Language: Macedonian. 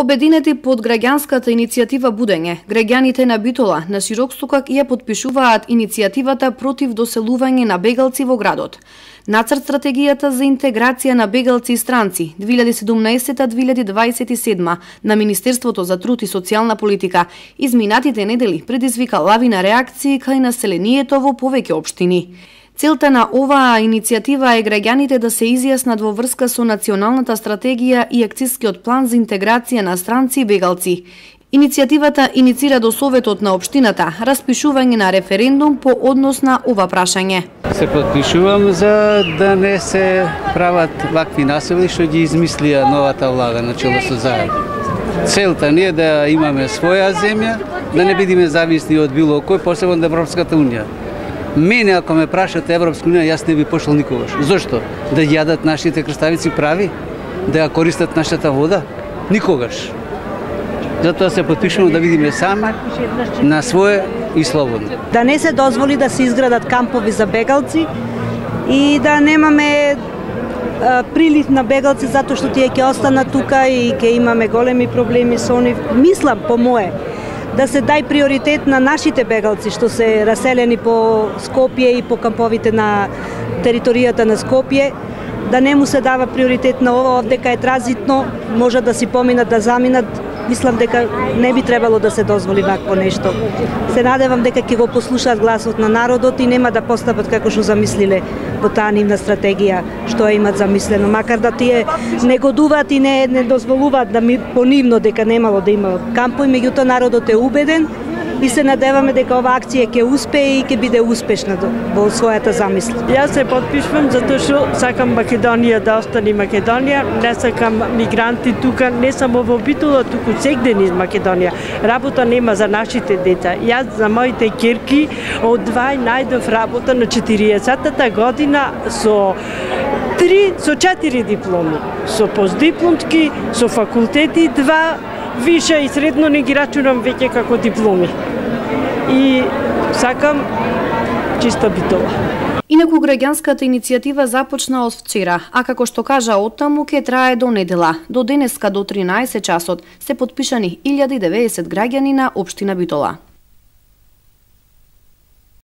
Обединети под граѓанската иницијатива Будење, граѓаните на Битола на широк сукак ја потпишуваат иницијативата против доселување на бегалци во градот. Нацрт стратегијата за интеграција на бегалци и странци 2017-2027 на Министерството за труд и социјална политика изминатите недели предизвика лавина реакции кај населението во повеќе општини. Целта на оваа иницијатива е граѓаните да се изјаснат во врска со националната стратегија и акцискиот план за интеграција на странци и бегалци. Иницијативата иницира до Советот на општината распишување на референдум по однос на ова прашање. Се подпишувам за да не се прават вакви насили што ги измислија новата влада на чело со заедно. Целта не е да имаме своја земја, да не бидеме зависни од било кој, посебно од Европската унија. Мене, ако ме прашате Европска унија, јас не би пошол никогаш. Зошто? Да јадат нашите крставици прави? Да ја користат нашата вода? Никогаш. Затоа се потпишуваме да видиме сами на свое и слободно. Да не се дозволи да се изградат кампови за бегалци и да немаме прилив на бегалци затоа што тие ќе останат тука и ќе имаме големи проблеми со нив. Мислам по мое да се дај приоритет на нашите бегалци што се раселени по Скопје и по камповите на територијата на Скопје, да не му се дава приоритет на ова, дека е транзитно, може да си поминат, да заминат. Мислам дека не би требало да се дозволи вакво нешто. Се надевам дека ќе го послушаат гласот на народот и нема да постапат како што замислиле во таа нивна стратегија што ја имат замислено. Макар да тие негодуваат и не дозволуваат да понивно дека немало да има кампови, меѓутоа народот е убеден и се надеваме дека оваа акција ќе успее и ќе биде успешна во својата замисла. Јас се потпишувам затоа што сакам Македонија да остане Македонија, не сакам мигранти тука, не само во Битола, туку сегде из Македонија. Работа нема за нашите деца. Јас за моите ќерки од 2 најдов работа на 40-та година со 4 дипломи, со постдипломски, со факултети 2, више и средно не ги рачунам веќе како дипломи. И сакам чиста Битола. Инаку граѓанската иницијатива започна од вчера, а како што кажа оттаму ќе трае до недела. До денеска до 13 часот се потпишани 1090 граѓани на општина Битола.